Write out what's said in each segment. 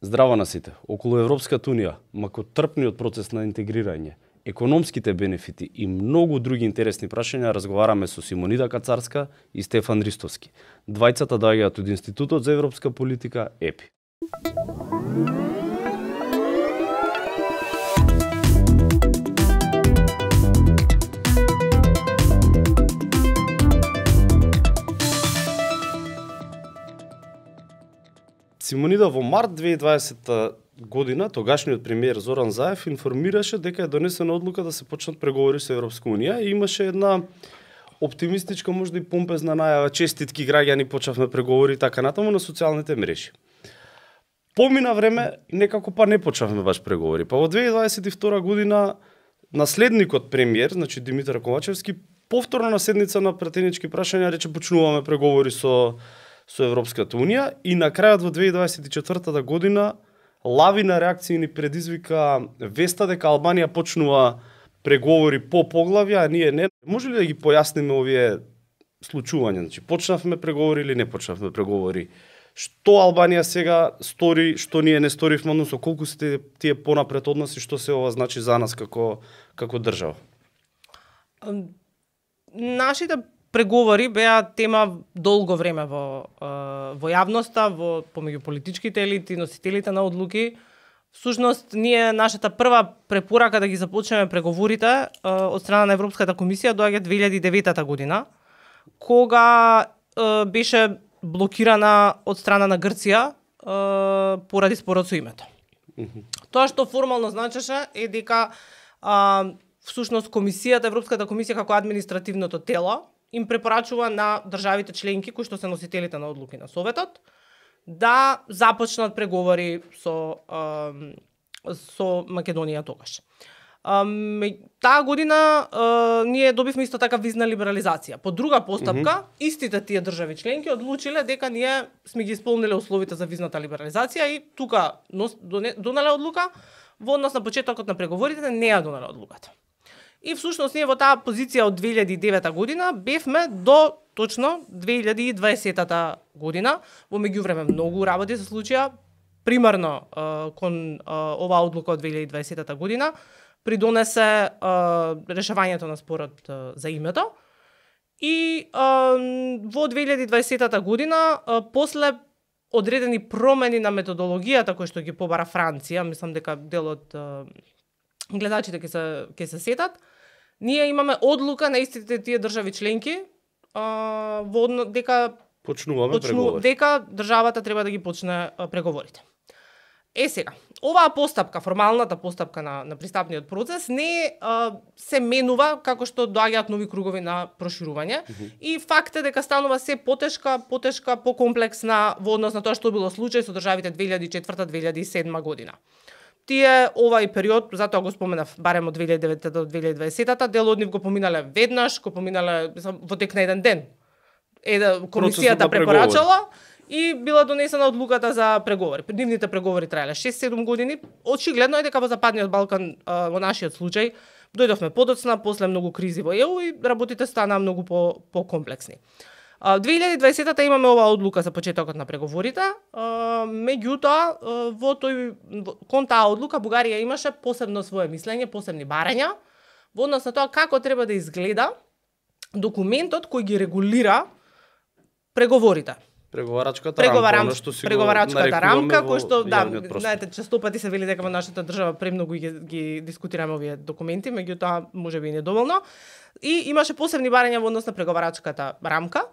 Здраво на сите. Околу Европската унија, макотрпниот процес на интегрирање, економските бенефити и многу други интересни прашања разговараме со Симонида Кацарска и Стефан Ристовски. Двајцата доаѓаат од Институтот за европска политика ЕПИ. Симонида, во март 2020 година тогашниот премиер Зоран Заев информираше дека е донесена одлука да се почнат преговори со Европска унија и имаше една оптимистичка, можда и помпезна најава, честитки граѓани, почнавме преговори и така натаму на социјалните мрежи. Помина време и некако па не почнавме баш преговори. Па во 2022 година наследникот премиер, значи Димитар Ковачевски, повторно на седница на пратенички прашања рече почнуваме преговори со Европската унија и на крајот во 2024 година лавина реакции ни предизвика веста дека Албанија почнува преговори по поглавја, а ние не. Може ли да ги појасниме овие случувања? Значи, почнавме преговори или не почнавме преговори? Што Албанија сега стори, што ние не сторивме, односно колку се тие понапред од нас и што се ова значи за нас како држава? Нашите преговори беа тема долго време во јавноста, помеѓу политичките елити, носителите на одлуки. Всушност, нашата прва препорака да ги започнеме преговорите од страна на Европската комисија доаѓа 2009 година, кога беше блокирана од страна на Грција поради спорот со името. Тоа што формално значеше е дека всушност Европската комисија како административното тело им препорачува на државите членки кои што се носителите на одлуки на Советот да започнат преговори со Македонија тогаш. Таа година ние добивме исто така визна либерализација. По друга постапка, истите тие држави членки одлучиле дека ние сме ги исполниле условите за визната либерализација и тука донале одлука, во однос на почетокот на преговорите не ја донале одлуката. И всушност ние во таа позиција од 2009 година бевме до точно 2020 година. Во меѓувреме многу работи се случија. Примерно кон оваа одлука од 2020 година придонесе решавањето на спорот за името. И во 2020 година после одредени промени на методологијата кои што ги побара Франција, мислам дека дел од гледачите ќе се сетат, ние имаме одлука на истите тие држави членки дека дека државата треба да ги почне преговорите. Сега, оваа постапка, формалната постапка на пристапниот процес не се менува како што доаѓаат нови кругови на проширување и факт е дека станува се потешка, покомплексна во однос на тоа што било случај со државите 2004-2007 година. Тие овај период, затоа го споменав, барем од 2009 до 2020, дел од нив го поминале веднаш, го поминале во тек на еден ден. Комисијата препорачала и била донесена одлуката за преговори. Нивните преговори траеле 6-7 години. Очигледно е дека во Западниот Балкан, во нашиот случај, дојдовме подоцна, после многу кризи во ЕУ и работите станаа многу покомплексни. 2020-та имаме оваа одлука за почетокот на преговорите, меѓутоа кон таа одлука Бугарија имаше посебно свое мислење, посебни барања во однос на тоа како треба да изгледа документот кој ги регулира преговорите. Преговарачката рамка, кој што знаете, честопати се вели дека во нашата држава премногу ги дискутираме овие документи, меѓутоа можеби и недоволно. И имаше посебни барања во однос на преговарачката рамка.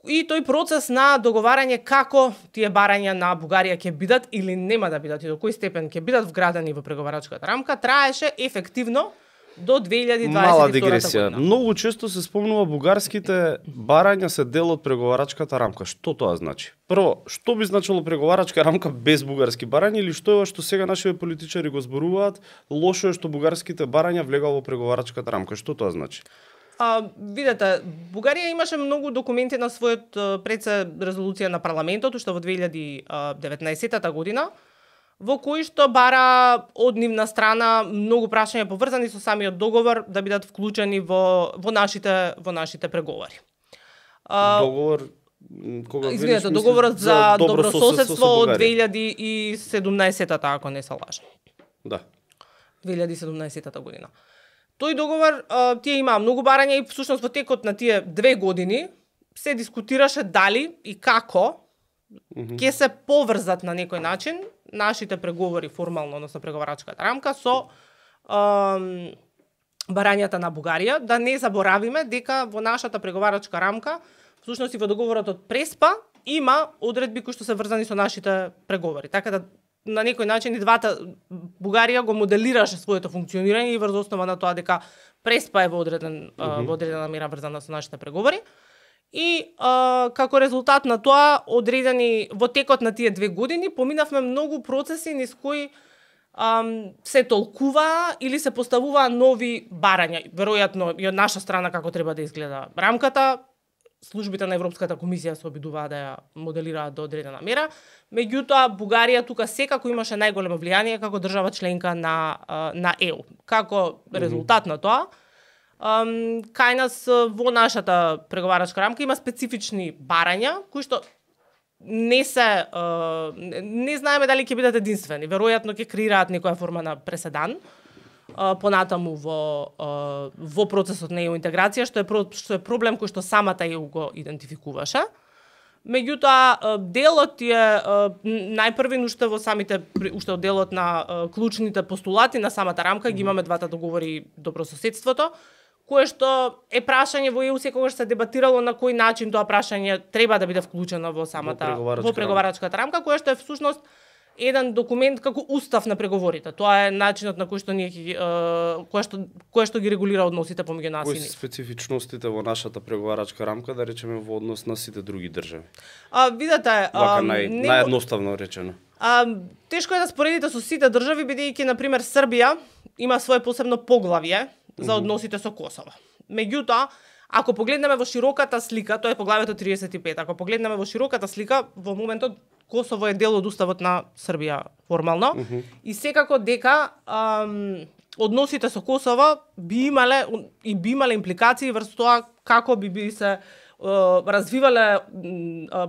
И тој процес на договарање како тие барања на Бугарија ќе бидат или нема да бидат и до кој степен ќе бидат вградени во преговарачката рамка траеше ефективно до 2022 Мала дигресија. Многу често се спомнува бугарските барања се дел од преговарачката рамка. Што тоа значи? Прво, што би значило преговарачка рамка без бугарски барања или што е што сега нашите политичари го зборуваат? Лошо е што бугарските барања влегува во преговарачката рамка. Што тоа значи? Видете, Бугарија имаше многу документи на својот предсе резолуција на парламентот, уште во 2019 година, во кои што бара од нивна страна многу прашања поврзани со самиот договор да бидат вклучени во нашите преговори. Договор Извинете, договорот за добрососедство од 2017-та, ако не се лажам. Да. 2017 година. Тој договор, тие имаа многу барања и всушност во текот на тие 2 години се дискутираше дали и како ќе се поврзат на некој начин нашите преговори формално, односно преговарачката рамка со барањата на Бугарија. Да не заборавиме дека во нашата преговарачка рамка, всушност и во договорот од Преспа, има одредби кои што се врзани со нашите преговори. Така да на некој начин и двата Бугарија го моделираше своето функционирање и врз основа на тоа дека Преспа е во одредена мера врзана со нашите преговори. И како резултат на тоа, одредени во текот на тие 2 години, поминавме многу процеси низ кои се толкува или се поставува нови барања. Веројатно и од наша страна како треба да изгледа рамката, службите на Европската комисија се обидуваат да ја моделираат до одредена мера. Меѓутоа, Бугарија тука секако имаше најголемо влијание како држава членка на ЕУ. Како резултат на тоа, кај нас во нашата преговарачка рамка има специфични барања кои што не знаеме дали ќе бидат единствени. Веројатно ќе креираат некоја форма на преседан понатаму во процесот на ЕУ интеграција, што е проблем кој што самата ЕУ го идентификуваше. Меѓутоа, делот е најпрвен уште во самите, уште од делот на клучните постулати на самата рамка, ги имаме двата договори добрососедството, кое што е прашање во ЕУ секогаш се дебатирало на кој начин тоа прашање треба да биде вклучено во самата во преговарачката рамка, кое што е всушност еден документ како устав на преговорите. Тоа е начинот на кој што ние кој што ги регулира односите помеѓу нас и нив. Кои се специфичностите во нашата преговарачка рамка, да речеме во однос на сите други држави? Видете, наједноставно речено. Тешко е да споредите со сите држави, бидејќи на пример Србија има свое посебно поглавје за односите со Косово. Меѓутоа, ако погледнеме во широката слика, тоа е поглавјето 35, ако погледнеме во широката слика, во моментот Косово е дел од уставот на Србија формално и секако дека односите со Косово би имале импликации врз тоа како би се развивале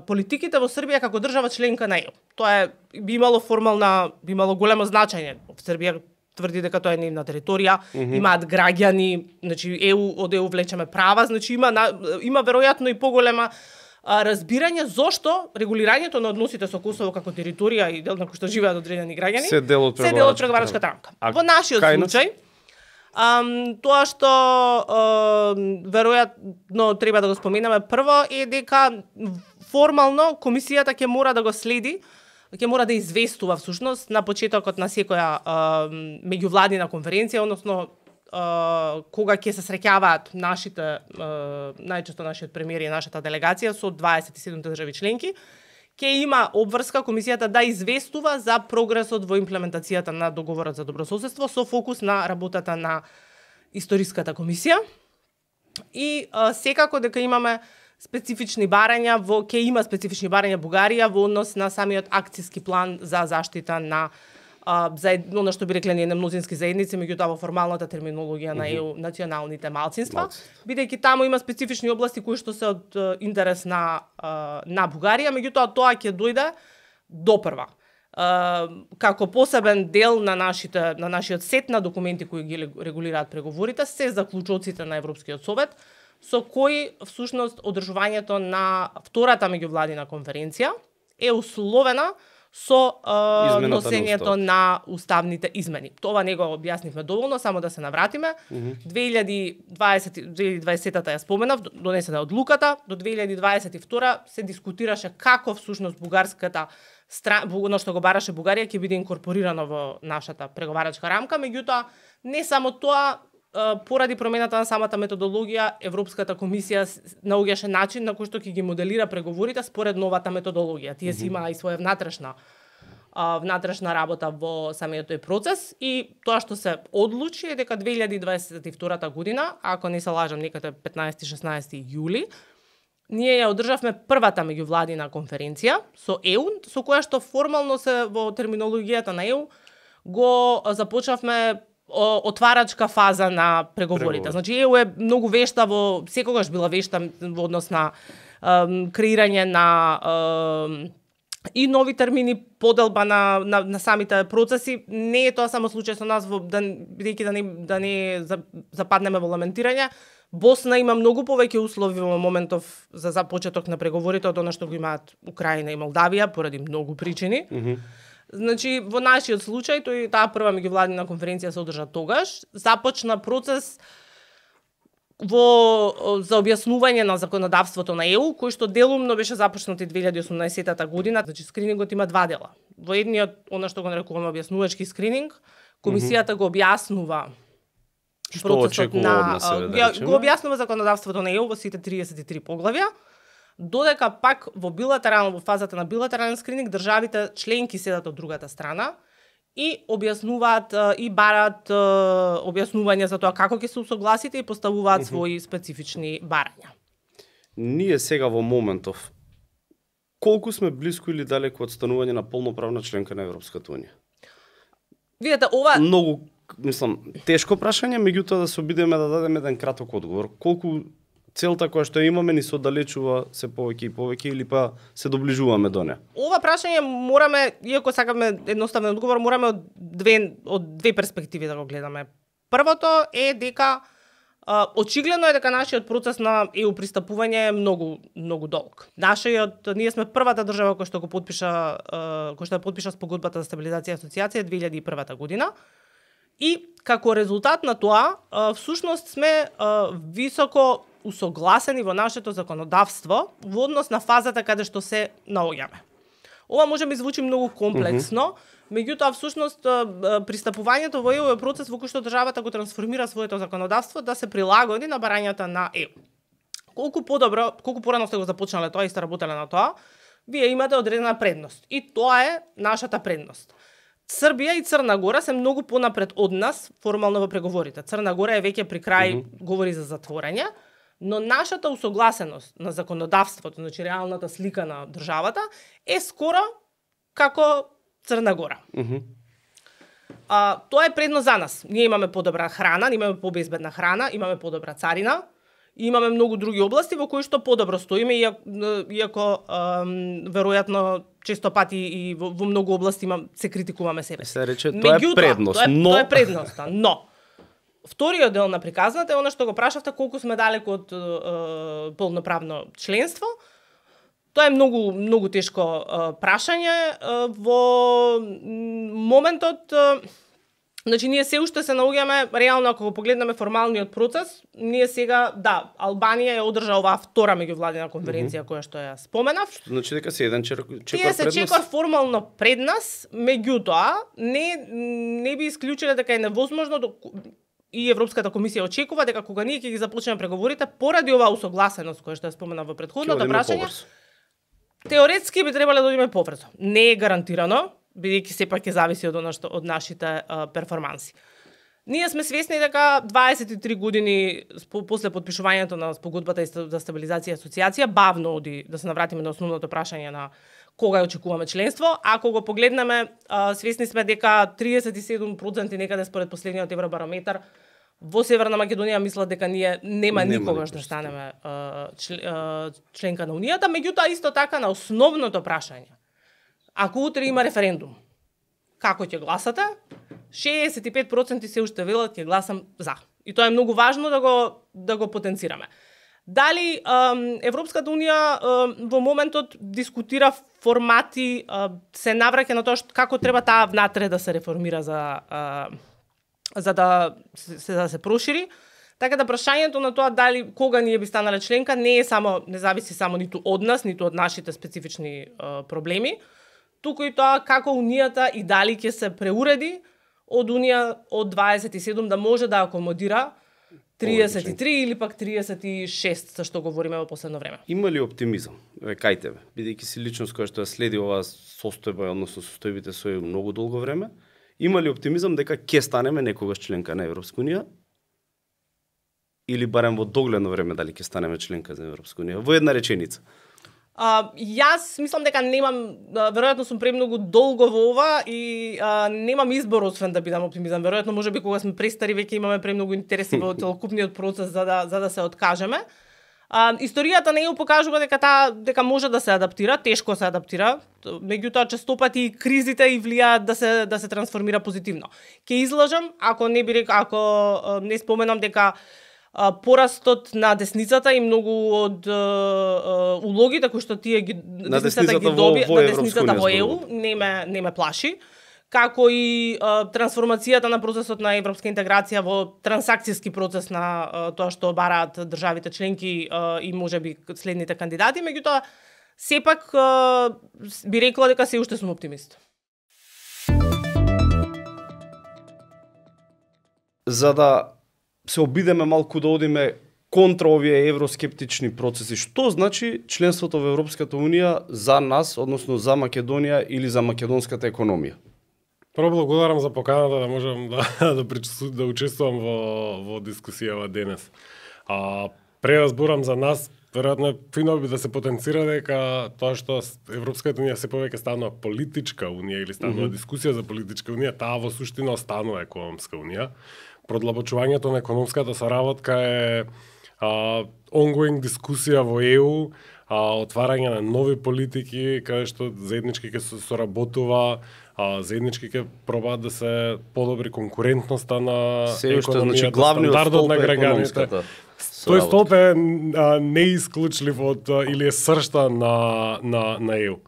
политиките во Србија како држава членка на ЕУ. Тоа би имало големо значење. Србија тврди дека тоа е нивна територија, имаат граѓани, значи од ЕУ влечеме права, значи има веројатно и поголема разбирање зошто регулирањето на односите со Косово како територија и дел на кој што живеат одредени граѓани се дел од преговарачката рамка. Во нашиот случај, тоа што веројатно треба да го споменаме прво е дека формално комисијата ќе мора да го следи, ќе мора да известува всушност на почетокот на секоја меѓувладина конференција, односно кога ќе се среќаваат најчесто нашиот премиер и нашата делегација со 27 држави членки, ќе има обврска комисијата да известува за прогресот во имплементацијата на договорот за добрососедство со фокус на работата на историската комисија и секако дека имаме специфични барања ќе има специфични барања Бугарија во однос на самиот акцијски план за заштита на за оно што би рекле ние мнозински заедници, меѓутоа во формалната терминологија на ЕУ националните малцинства, бидејќи таму има специфични области кои што се од интерес на Бугарија, меѓутоа тоа ќе дојде допрва. Како посебен дел на нашиот сет на документи кои ги регулираат преговорите се заклучоците на Европскиот совет, со кои всушност одржувањето на втората меѓувладина конференција е условена со носењето на уставните измени. Тоа не го објаснивме доволно, само да се навратиме. 2020-та ја споменав, донесена одлуката, до 2022 се дискутираше како всушност бугарската оно што го бараше Бугарија ќе биде инкорпорирано во нашата преговарачка рамка, меѓутоа не само тоа, поради промената на самата методологија, Европската комисија наоѓаше начин на кој што ќе ги моделира преговорите според новата методологија. Тие си имаа и своја внатрешна работа во самиот тој процес и тоа што се одлучи е дека 2022 година, ако не се лажам, некаде 15-16 јули, ние ја одржавме првата меѓувладина конференција со ЕУ, со која што формално се во терминологијата на ЕУ го започнавме отварачка фаза на преговорите. Значи ЕУ е многу вешта секогаш била вешта во однос на креирање на и нови термини, поделба на самите процеси. Не е тоа само случај со нас, бидејќи да не западнеме во ламентирање. Босна има многу повеќе услови во моментов за започеток на преговорите од она што го имаат Украина и Молдавија поради многу причини. Значи, во нашиот случај, таа прва меѓувладина конференција се одржа тогаш, започна процес за објаснување на законодавството на ЕУ, кој што делумно беше започнат и 2018 година. Значи, скринингот има два дела. Во едниот, она што го нарекуваме објаснувачки скрининг, комисијата го објаснува процесот го објаснува законодавството на ЕУ во сите 33 поглавја, додека пак во фазата на билатерален скрининг државите членки седат од другата страна и објаснуваат и барат објаснување за тоа како ќе се усогласите и поставуваат своји специфични барања. Ние сега во моментов колку сме блиску или далеку од станување на полноправна членка на Европската унија? Видете, ова многу, тешко прашање, меѓутоа да се обидеме да дадеме еден краток одговор. Колку целта која што имаме ни се оддалечува се повеќе и повеќе или па се доближуваме до неа? Ова прашање мораме, иако сакаме едноставен одговор, мораме од две перспективи да го гледаме. Првото е дека очигледно е дека нашиот процес на ЕУ пристапување е многу долг. Ние сме првата држава која што подпиша спогодбата за стабилизација и асоциација 2001 година. И како резултат на тоа, всушност сме високо усогласени во нашето законодавство во однос на фазата каде што се наоѓаме. Ова може би звучи многу комплексно, меѓутоа всушност пристапувањето во ЕУ е процес во кој што државата го трансформира своето законодавство да се прилагоди на барањата на ЕУ. Колку порано сте го започнале тоа и сте работеле на тоа, вие имате одредена предност. И тоа е нашата предност. Србија и Црна Гора се многу понапред од нас формално во преговорите. Црна Гора е веќе при крај говори за затворање, но нашата усогласеност на законодавството, значи реалната слика на државата, е скоро како Црна Гора. Тоа е предност за нас. Ние имаме подобра храна, имаме побезбедна храна, имаме подобра царина, и имаме многу други области во кои што подобро стоиме, иако веројатно често пати и во многу области се критикуваме себе. Се рече, тоа е предност, но... Тоа е предност, но... Вториот дел на приказната е она што го прашавте колку сме далеку од полноправно членство. Тоа е многу тешко прашање. Во моментот, значи ние се уште се наоѓаме, реално ако го погледнеме формалниот процес, ние сега, Албанија ја одржа оваа втора меѓувладина конференција која што ја споменав. Значи дека се еден чекор пред нас? Тие се чекор формално пред нас, меѓутоа не би исклучиле дека е невозможно и Европската комисија очекува дека кога ние ќе ги започнеме преговорите, поради оваа усогласеност која што ја спомена во претходното прашање, теоретски би требале да одиме побрзо. Не е гарантирано, бидејќи сепак ќе зависи од нашите перформанси. Ние сме свесни дека 23 години после подпишувањето на спогодбата за стабилизација и асоциација бавно оди, да се навратиме на основното прашање на кога ја очекуваме членство. Ако го погледнеме, свесни сме дека 37% некаде според последниот Евробарометар во Северна Македонија мислат дека ние нема никогаш да станеме членка на Унијата, меѓутоа исто така на основното прашање. Ако утре има референдум, како ќе гласате? 65% се уште велат ќе гласам за. И тоа е многу важно да го потенцираме. Дали Европската унија во моментот дискутира формати, се навраќа на тоа како треба таа внатре да се реформира за да се прошири. Така да прашањето на тоа дали кога ние би станале членка не зависи само ниту од нас, ниту од нашите специфични проблеми, туку и тоа како Унијата и дали ќе се преуреди од Унија од 27 да може да акомодира 33 или пак 36, за што говориме во последно време. Има ли оптимизам? Кај тебе, бидејќи си личност која што ја следи оваа состојба, односно состојбите со многу долго време, има ли оптимизам дека ќе станеме некогаш членка на Европска унија? Или барем во догледно време дали ќе станеме членка на Европска унија? Во една реченица. Јас мислам дека веројатно сум премногу долго во ова и немам избор освен да бидам оптимизам. Веројатно можеби кога сме престари веќе имаме премногу интереси во целокупниот процес за да се откажеме. Историјата не ја покажува дека може да се адаптира, тешко се адаптира, меѓутоа честопати кризите и влијаат да се трансформира позитивно. Ќе излажам ако не споменам дека порастот на десницата и многу од улогите кои што тие ги десницата ги доби на десницата во ЕУ не ме плаши, како и трансформацијата на процесот на европска интеграција во трансакцијски процес на тоа што бараат државите членки и можеби следните кандидати, меѓутоа сепак би рекла дека се уште сум оптимист. За да се обидеме малку да одиме контра овие евроскептични процеси, што значи членството во Европската Унија за нас, односно за Македонија или за македонската економија? Прво благодарам за поканата да можам да учествувам во дискусијава денес. Преразборам за нас, веројатно фино би да се потенцира дека тоа што Европската Унија се повеќе станува политичка унија или станува дискусија за политичка унија, таа во суштина останува економска унија. Продлабочувањето на економската соработка е ongoing дискусија во ЕУ, отварање на нови политики, каде што заеднички ќе се соработува, заеднички ќе пробаат да се подобри конкурентноста на економијата, стандардот на граѓаните. Тој столб е неисклучлив од или е сршта на ЕУ.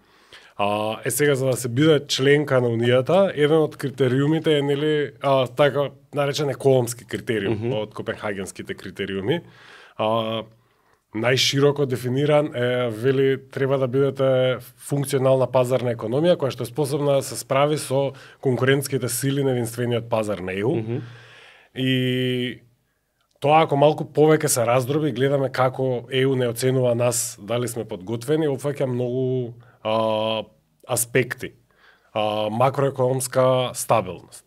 Сега за да се биде членка на унијата, еден од критериумите е нели така наречен економски критериум од копенхагенските критериуми. Најшироко дефиниран е вели треба да бидете функционална пазарна економија која што е способна да се справи со конкурентските сили на единствениот пазар на ЕУ. И тоа ако малку повеќе се раздроби, гледаме како ЕУ не оценува нас дали сме подготвени, опфаќа многу аспекти. Макроекономска стабилност,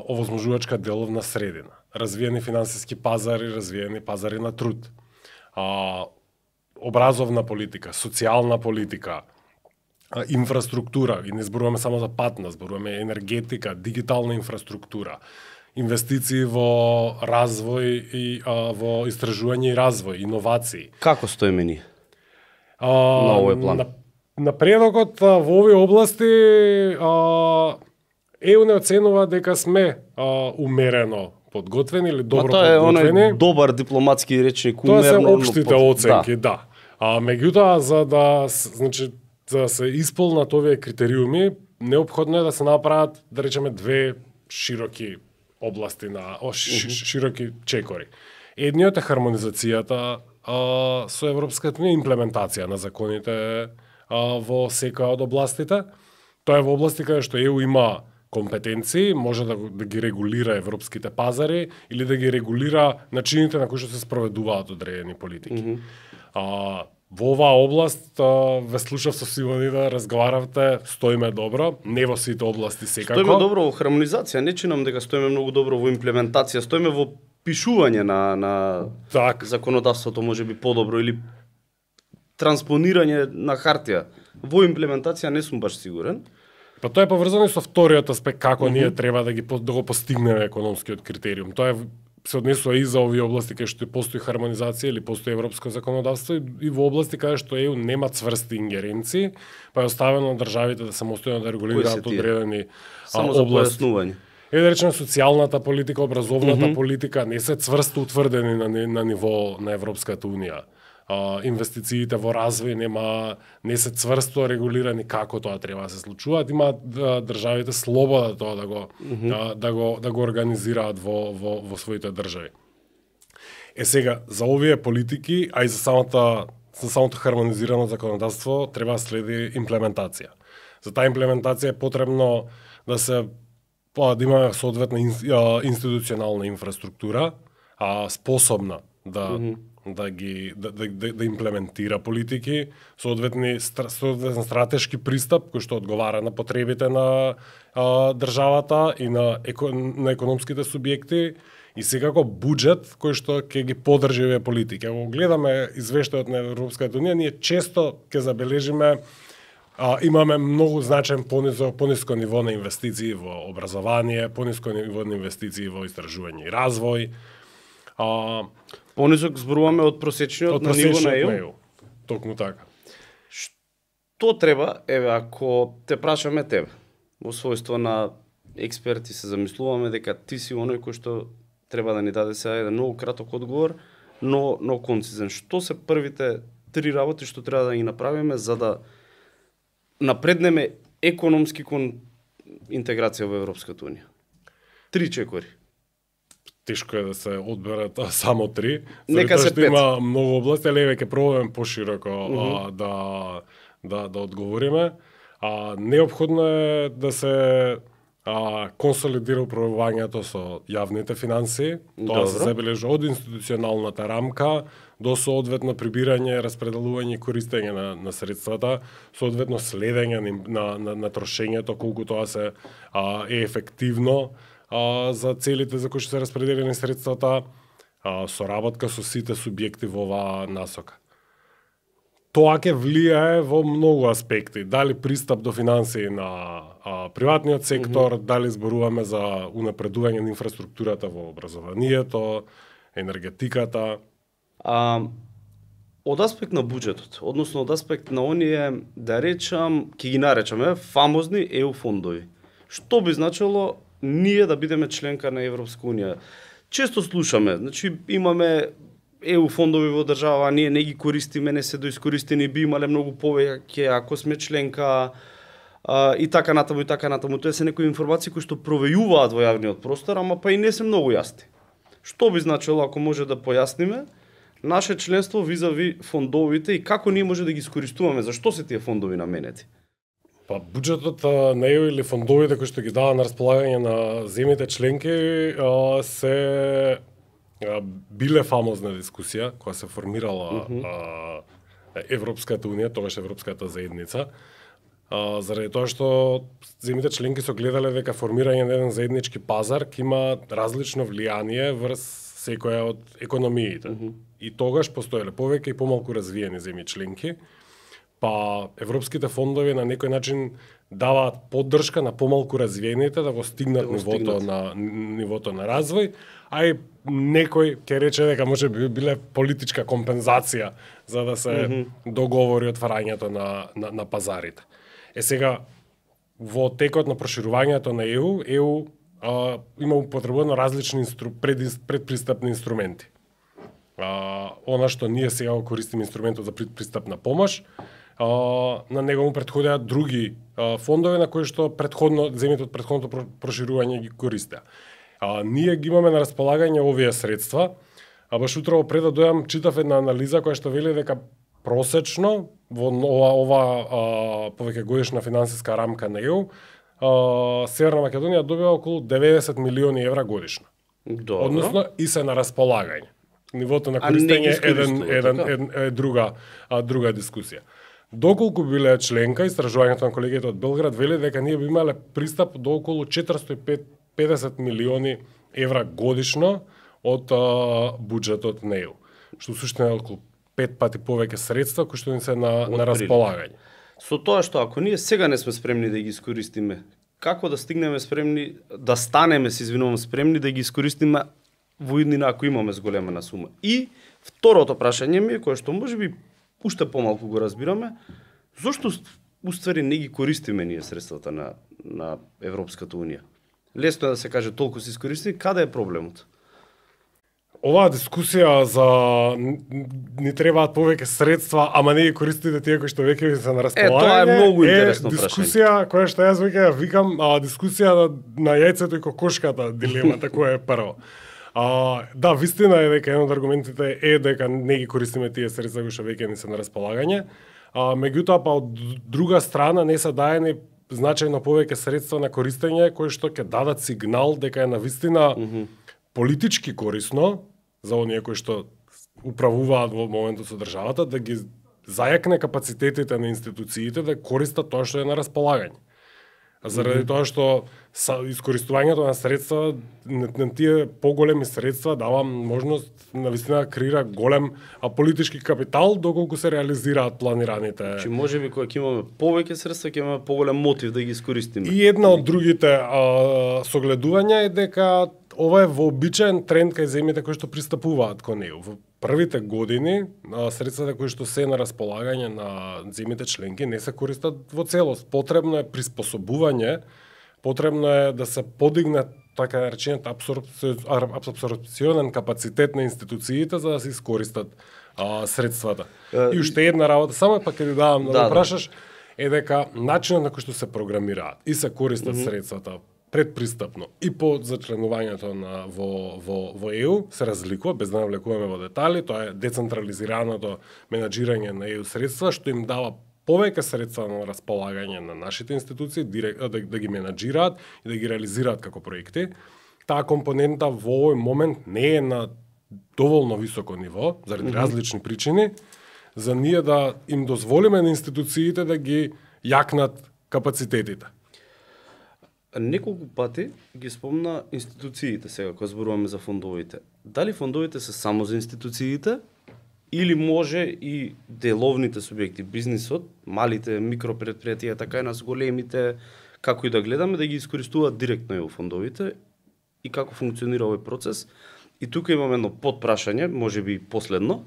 овозможувачка деловна средина, развиени финансиски пазари, развиени пазари на труд, образовна политика, социјална политика, инфраструктура, и не зборуваме само за патна, зборуваме енергетика, дигитална инфраструктура, инвестиции во развој и во истражување и развој, иновации. Како стоиме ние на овој план? Напредокот во овие области ЕУ не оценува дека сме умерено подготвени или добро подготвени. Тоа е оној добар дипломатски речник, умерно. Тоа се општите оценки, да. Меѓутоа за да се исполнат овие критериуми, неопходно е да се направат, да речеме, две широки области широки чекори. Едниот е хармонизацијата со Европската унија, имплементација на законите во секоја од областите. Тоа е во области каде што ЕУ има компетенции, може да ги регулира европските пазари или да ги регулира начините на кои што се спроведуваат одредени политики. Во оваа област ве слушав со Сивони да разговаравте, стоиме добро, не во сите области секако. Стоиме добро во хармонизација, не чинам дека стоиме многу добро во имплементација, стоиме во пишување на законодавството можеби подобро или транспонирање на хартија. Во имплементација не сум баш сигурен. Па тоа е поврзано со вториот аспект, како ние треба да го постигнеме економскиот критериум. Тоа се однесува и за овие области каде што постои хармонизација или постои европско законодавство и во области каде што ЕУ нема цврсти ингеренции, па е оставено на државите да самостојно да регулираат одредени само за појаснување. Да речеме социјалната политика, образовната политика не се цврсто утврдени на ниво на Европската унија. Инвестициите во развој не се цврсто регулирани како тоа треба да се случуваат. Има државите слобода тоа да го организираат во своите држави. Сега за овие политики, а и за самото хармонизирано законодавство треба да следи имплементација. За таа имплементација е потребно да имаме соодветна институционална инфраструктура, способна да имплементира политики, соодветен стратешки пристап кој што одговара на потребите на државата и на економските субјекти и секако буџет кој што ќе ги поддржи овие политики. Ако гледаме извештајот на Европската унија, ние често ќе забележиме имаме многу значаен пониско ниво на инвестиции во образование, пониско ниво на инвестиции во истражување и развој. Понисок зборуваме од просечниот на ниво на ЕУ. Токму така. Што треба, ако те прашаме тебе, во својство на експерти се замислуваме дека ти си оној кој што треба да ни даде сега еден многу краток одговор, но концизен. Што се првите 3 работи што треба да ги направиме за да напреднеме економски кон интеграција во Европската унија? 3 чекори. Тешко е да се одберат само 3. Нека се 5. Има многу области, али веќе пробуваме пошироко да одговориме. Неопходно е да се консолидира управувањето со јавните финансии. Тоа се забележи од институционалната рамка до соодветно прибирање, распределување и користење на средствата, соодветно следење на трошењето, колку тоа се е ефективно за целите за кои што се распределени средствата, соработка со сите субјекти во оваа насока. Тоа ќе влијае во многу аспекти. Дали пристап до финансии на приватниот сектор, дали зборуваме за унапредување на инфраструктурата во образованието, енергетиката. Од аспект на буџетот, односно од аспект на оние, да речам, ќе ги наречаме фамозни ЕУ фондови. Што би значило ние да бидеме членка на Европска унија? Често слушаме, значи имаме ЕУ фондови во држава, ние не ги користиме, не се доискористени, би имале многу повеќе ако сме членка, и така натаму, и така натаму. Тоа се некои информации кои што провејуваат во јавниот простор, ама па и не се многу јасни. Што би значило ако може да појасниме наше членство визави фондовите и како ние може да ги искористуваме? Зашто се тие фондови наменети? Па буџетот на ЕУ или фондовите кои што ги дава на располагање на земјите членки се биле фамозна дискусија која се формирала Европската унија, тогаш Европската заедница, заради тоа што земјите членки се гледале дека формирање на еден заеднички пазар ќе има различно влијание врз секоја од економиите. И тогаш постоеле повеќе и помалку развиени земји членки, па европските фондови на некој начин даваат поддршка на помалку развиените да го стигнат нивото на развој, а и некој ќе рече дека може би биле политичка компензација за да се договори отварањето на пазарите. Сега, во текот на проширувањето на ЕУ има употребено различни предпристапни инструменти. Она што ние сега го користиме инструментот за предпристапна помош, на него му претходеа други фондови на кои што земјите од претходното проширување ги користеа. Ние ги имаме на располагање овие средства, баш утрово пред да дојам читав една анализа која што вели дека просечно во ова повеќе годишна финансиска рамка на ЕУ, Северна Македонија добива околу 90 милиони евра годишно. Добро. Односно и се на располагање. Нивото на користење е друга дискусија. Доколку биле членка, истражувањето на колегите од Белград вели дека ние би имале пристап до околу 450 милиони евра годишно од буџетот на ЕУ, што суштина е околу 5 пати повеќе средства кои што ни се на располагање. Со тоа што ако ние сега не сме спремни да ги искористиме, како да стигнеме спремни, да станеме, спремни да ги искористиме во иднина ако имаме зголемена сума? И второто прашање ми е, кое што можеби уште помалку го разбираме, зошто уствари не ги користиме ние средствата на Европската унија? Лесно е да се каже толку се искористи, каде е проблемот? Оваа дискусија за ни требаат повеќе средства, ама не ги користите тие кои што веќе се на располагање. Тоа е многу интересно прашање. Дискусија која што јас веќе викам, дискусија на јајцето и кокошката, дилемата која е прво. Да, вистина е дека еден од аргументите е дека не ги користиме тие средства кои што веќе ни се на располагање. Меѓутоа, па од друга страна не се даени значајно повеќе средства на користење кои што ќе дадат сигнал дека е навистина политички корисно за оние кои што управуваат во моментот со државата, да ги зајакне капацитетите на институциите да користат тоа што е на располагање. Заради тоа што искористувањето на средства, на тие поголеми средства дава можност навистина да креира голем политички капитал доколку се реализираат планираните. Значи можеби кога ќе имаме повеќе средства ќе имаме поголем мотив да ги искористиме. И една од другите согледувања е дека ова е вообичаен тренд кај земјите кои што пристапуваат кон ЕУ. Во првите години средствата кои што се на располагање на земјите членки не се користат во целост. Потребно е приспособување, потребно е да се подигне така речениот абсорбционен капацитет на институциите за да се искористат средствата. И уште една работа, само пак ќе ти давам да прашаш, е дека начинот на кој што се програмираат и се користат средствата предпристапно и по зачленувањето во ЕУ се разликува, без да навлекуваме во детали, тоа е децентрализираното менаџирање на ЕУ средства, што им дава повеќе средства на располагање на нашите институции, да ги менаџираат и да ги реализираат како проекти. Таа компонента во овој момент не е на доволно високо ниво, заради различни причини, за ние да им дозволиме на институциите да ги јакнат капацитетите. Неколку пати ги спомна институциите сега, кога зборуваме за фондовите. Дали фондовите се само за институциите, или може и деловните субјекти, бизнисот, малите микропредпријатија, така и нас големите, како и да гледаме, да ги искористуваат директно ЕУ фондовите и како функционира овој процес. И тука имаме едно подпрашање, може би последно,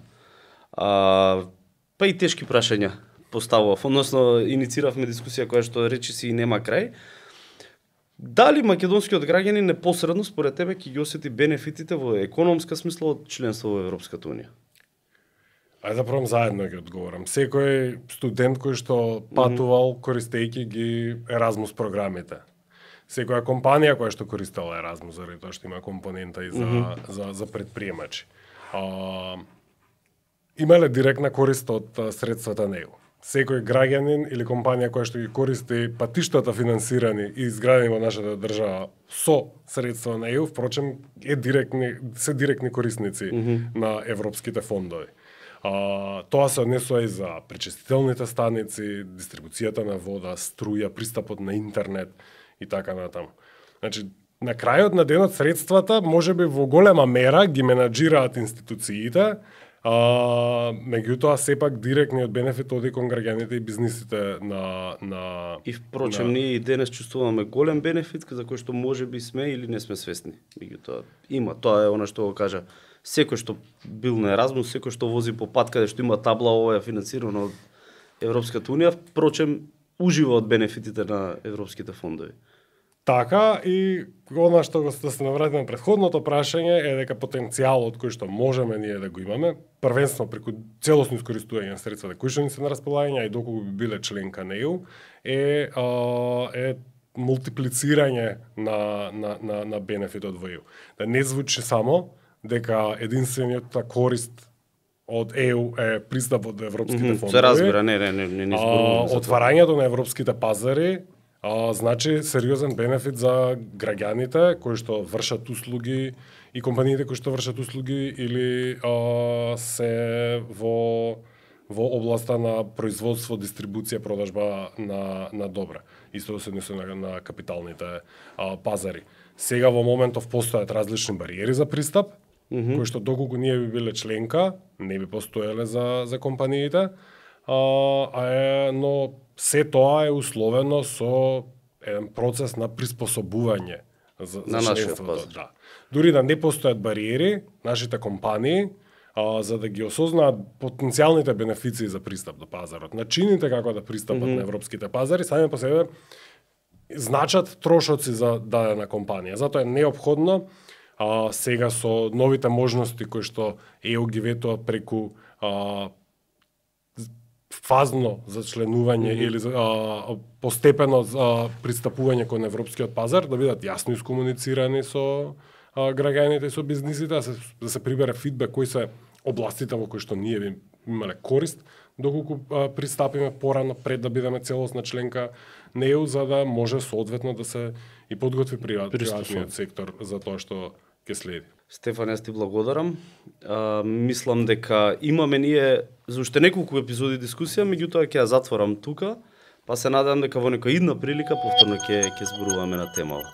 па и тешки прашања поставував, односно иницииравме дискусија која што речи си и нема крај. Дали македонскиот граѓанин непосредно според тебе ќе ги осети бенефитите во економска смисла од членство во Европската унија? Ајде да пробам заедно ги одговорам. Секој студент кој што патувал користејќи ги Еразмус програмите. Секоја компанија која што користела Еразмус, заради тоа што има компонента и за предприемачи. Имале директна корист од средствата на ЕУ. Секој граѓанин или компанија која што ги користи патиштата финансирани и изградени во нашата држава со средства на ЕУ, впрочем, се директни корисници на европските фондови. Тоа се однесува и за пречистителните станици, дистрибуцијата на вода, струја, пристапот на интернет и така натаму. Значи, на крајот на денот средствата можеби во голема мера ги менаџираат институциите, меѓутоа сепак директниот бенефит оди кон граѓаните и бизнисите на И впрочем ние и денес чувствуваме голем бенефит за кој што можеби сме или не сме свесни. Меѓутоа има, тоа е она што го кажа. Секој што бил на Еразмус, секој што вози по пат каде што има табла ова е финансирано од Европската унија, впрочем ужива од бенефитите на европските фондови. Така, и она што да се навратиме претходното прашање е дека потенцијалот кој што можеме ние да го имаме, првенствено преку целосно искористување на средствата кои што ни се на располагање и доколку би биле членка на ЕУ, е мултиплицирање на бенефитот во ЕУ. Да не звучи само дека единствениот корист од ЕУ е пристапот до европските фондови. Се разбира, не зборувам. Отварањето на европските пазари значи сериозен бенефит за граѓаните кои што вршат услуги и компаниите кои што вршат услуги или се во областа на производство, дистрибуција, продажба на добра. Исто се однесува на капиталните пазари. Сега во моментов постојат различни бариери за пристап, кои што доколку ние би биле членка, не би постоеле за компаниите, но се тоа е условено со еден процес на приспособување за членството. Да. Дури да не постојат бариери, нашите компании, за да ги осознаат потенцијалните бенефиции за пристап до пазарот, начините како да пристапат на европските пазари, сами по себе значат трошоци за дадена компанија. Затоа е неопходно сега со новите можности кои што ЕУ ги ветува преку фазно зачленување или постепено пристапување кон европскиот пазар, да бидат јасно искомуницирани со граѓаните и со бизнисите, да се прибере фидбек кои се областите во кои што ние би имале корист, доколку пристапиме порано пред да бидеме целосна членка на ЕУ, за да може соодветно да се и подготви приватниот сектор за тоа што ќе следи. Стефан, јас ти благодарам. Мислам дека имаме ние за уште неколку епизоди дискусија, меѓутоа ќе ја затворам тука, па се надевам дека во некоја идна прилика повторно ќе зборуваме на темава.